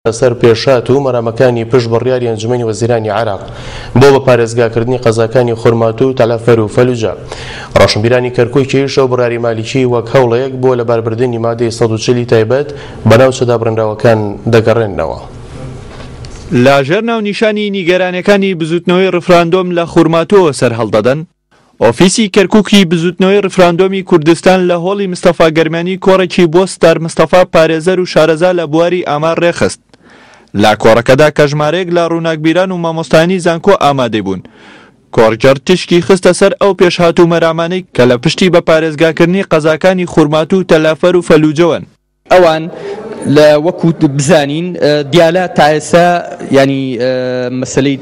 لەسەر پێشهات و مەرامەکانی پشت بڕیاری ئەنجومەنی وەزیرانی عێراق بۆ بە پارێزگاکردنی قەزاکانی خورماتوو و تەلەفەر و فەلوجە. ڕۆشنبیرانی کەرکوکیش ئەو بڕیاری مالیکی وەک هەوڵێک بۆ لەباربردنی مادەی 140 ی تایبەت بە ناوچە دابڕێنراوەکان دەگەڕێننەوە. لە ژێر ناونیشانی نیگەرانیەکانی بزوتنەوەی ڕیفراندۆم لە خورماتووەوە سەرهەڵدەدەن، ئۆفیسی کەرکوکی بزوتنەوەی ڕیفراندۆمی کوردستان لە هۆڵی مستەفا گەرمیانی کۆڕێکی بۆ ستار مستەفا پارێزەر و شارەزا لە بواری ئامار ڕێکخست. لە کۆڕەکەدا کە ژمارەیەک لە ڕووناکبیران و مامۆستایانی زانکۆ ئامادەی بوون، کۆڕگێڕ تیشکی خستە سەر ئەو پێشهات و مەرامانەی کە لە پشتی بە پارێزگاکردنی قەزاکانی خورماتوو و تەلەفەر و فەلوجەوەن. ئەوان لە وەکو بزانین دیالە تا ئێستا ینی مەسلەی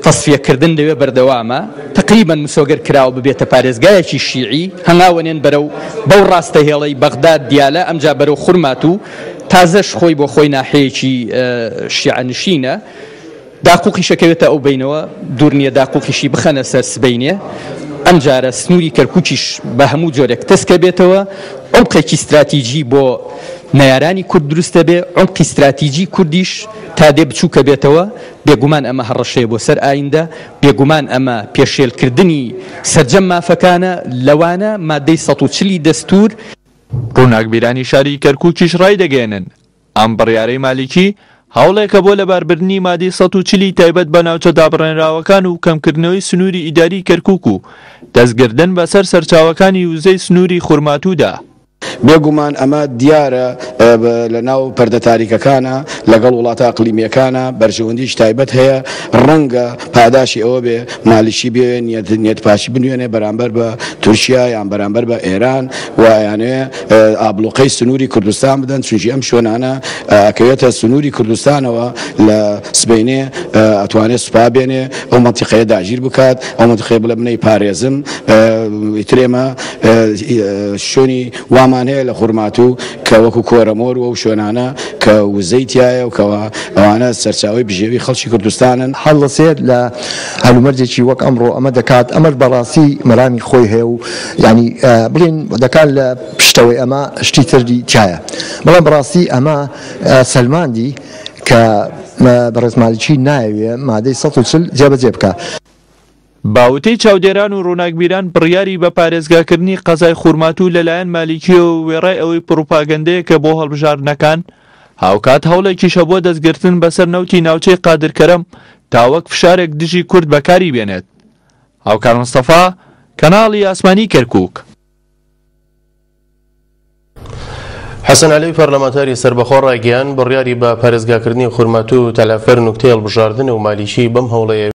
تەسفیەکردن لەوێ بەردەوامە تقریبا مسۆگەر کراوە ببێتە پارێزگایەکی شیعی هەنگاوەنێن بەرەو بەو ڕاستە هێڵەی بەغداد دیالە ئەمجا بەرەو خورمات و تازەش خۆی بۆ خۆی ناحەیەکی شیعەنشینە داقوقیش ئەکەوێتە ئەو بەینەوە، دوور نییە داقوقیشی بخەنە سەر سبەینێ، ئەمجارە سنووری کەرکووکیش بە هەموو جۆرێک تەسکە بێتەوە، عومقێکی ستراتیجی بۆ نەیارانی کورد دروست دەبێ، عومقی ستراتیجی کوردیش تا دێ بچووکە بێتەوە، بێگومان ئەمە هەڕەشەیە بۆ سەر ئایندە، بێگومان ئەمە پێشێلکردنی سەرجەم مافەکانە، لەوانە مادەی 140 ی دەستوور. ڕووناکبیرانی شاری کەرکووکیش ڕایدەگەیەنن، ئەم بڕیارەی مالیکی هەوڵێکە بۆ لەباربردنی مادەی 140 ی تایبەت بە ناوچە دابڕێنراوەکان و کەمکردنەوەی سنووری ئیداری کەرکوک و دەستگردن بەسەر سەرچاوەکانی وزەی سنووری خورماتوودا. بێگومان ئەمە دیارە لە ناو پەردە تاریکەکانە لەگەڵ وڵاتە ئەقلیمیەکانە بەرژەوەندیی تایبەت هەیە، ڕەنگە پاداشی ئەوە بێ مالیکی بێ نیەت نیەت پاکی بنوێنێ بەرامبەر بە تورکیا یان بەرامبەر بە ئێران و ئەیانەوێ ئابڵوقەی سنووری کوردستان بدەن، چونکی ئەم شوێنانە ئەکەوێتە سنووری کوردستانەوە لە سبەینێ ئەتوانێ سوپا بێنێ ئەو مەنتیقەیە داگیر بکات، ئەو مەنتیقەیە بڵێ من ئەیپارێزم، ئیتر ئێمە شوێنی وامان هەیە لە خورماتوو کە وەکو کۆرەمۆر و ئەو شوێنانە کە وزەی تیایە و کەوا ئەوانە سەرچاوەی بژێوی خەڵکی کوردستانن. هەڵدەسێت لە هەلومەرجێکی وەک ئەمڕۆ ئەمە دەکات، ئەمەش بەڕاستی مەرامی خۆی هەیە و یانی بڵێین دەکات لە پشتەوەی ئەمە شتی تری تیایە، بەڵام بەڕاستی ئەمە سەلماندی کە بەڕێز مالکی نایەوێ مادەی 140 جێبەجێ بکا. بە وتەی چاودێران و ڕووناکبیران بڕیاری بە پارێزگاکردنی قەزای خورماتوو لەلایەن مالیکییەوە وێڕای ئەوەی پڕوپاگەندەیەکە بۆ هەڵبژاردنەکان، هاوکات هەوڵێکیشە بۆ دەستگرتن بەسەر نەوتی ناوچەی قادرکەرەم تا وەک فشارێک دژی کورد بەکاری بێنێت. هاوکار مستەفا، کەناڵی ئاسمانی کەرکوک. حەسەن عەلەوی پەرلەمانتاری سەربەخۆ ڕایگەیاند، بڕیاری بە پارێزگاکردنی خورماتوو و تەلەعفەر نوکتەی هەڵبژاردنە و مالیکی بەم هەوڵەیە.